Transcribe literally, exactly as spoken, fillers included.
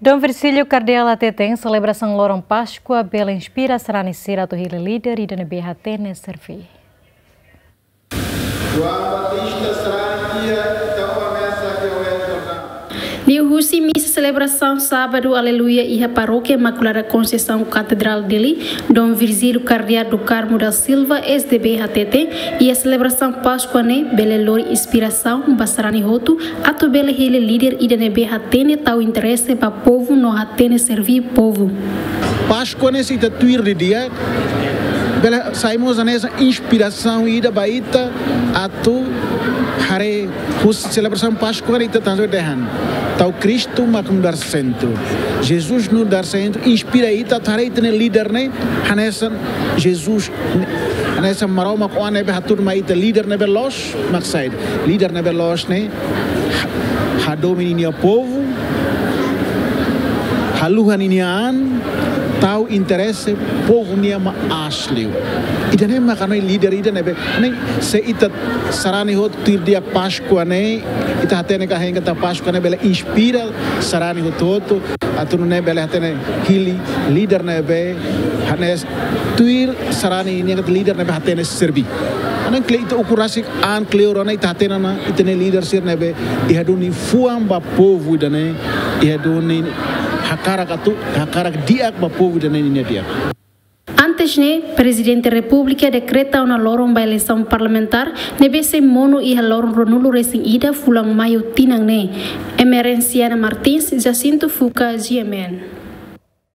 Dom Virgílio Kardeál hateten selebrasaun loron Páskua bele inspira sarani sira atu hili líder ida ne'ebé hatene serví. João Batista sarani tiha, ita tau a mesa ke o Jordão. Liuhusi misa selebrasaun Sábadu Aleluia iha Parókia Imakulada Konseisaun Katedrál Dili, Dom Virgílio Kardeál do Carmo da Silva, S D B, hateten, iha selebrasaun Páskua ne'e bele lori inspirasaun ba sarani hotu atu bele hili líder ida ne'ebé hatene tau interese ba povu no hatene serví povu. Páskua ne'e se ita tuir didi'ak, bele sai mós hanesan inspirasaun ida ba ita atu haree husi selebrasaun Páskua ne'e ita tanso dehan. Tau Kristu mak nu'udar sentru. Jesus nu'udar sentru, inspira ita atu haree ita-nia líder ne'e hanesan Jesus, hanesan Maromak Oan ne'ebé hatudu mai ita líder ne'ebé loos mak saida. Líder ne'ebé loos ne'e hadomi ninia povu, haluha ninia an, tau interese povu nian mak aas liu. Ida-ne'e mak hanoin líder ida ne'ebé, ne'e se ita sarani hotu tuir di'ak Páskua ne'e, ita hatene katak Páskua ne'e bele inspira sarani hotu-hotu, atu nune'e bele hatene hili líder ne'ebé hanesan tuir sarani ninia katak líder ne'ebé hatene serví. Hanesan kleur ita ukur rasik an kleur ona ita hatene ona ita-nia líder sira ne'ebé iha duni fuan ba povu ida-ne'e, iha duni hakarak atu, hakarak di'ak ba povu ida-ne'e ninia di'ak. Antes ne'e, Prezidente Repúblika dekreta ona loron ba eleisaun parlamentár ne'ebé sei monu iha loron ruanulu-resin-ida fulan Maiu tinan ne'e. Emerenciana Martins, Jacinto Fuca, G M N.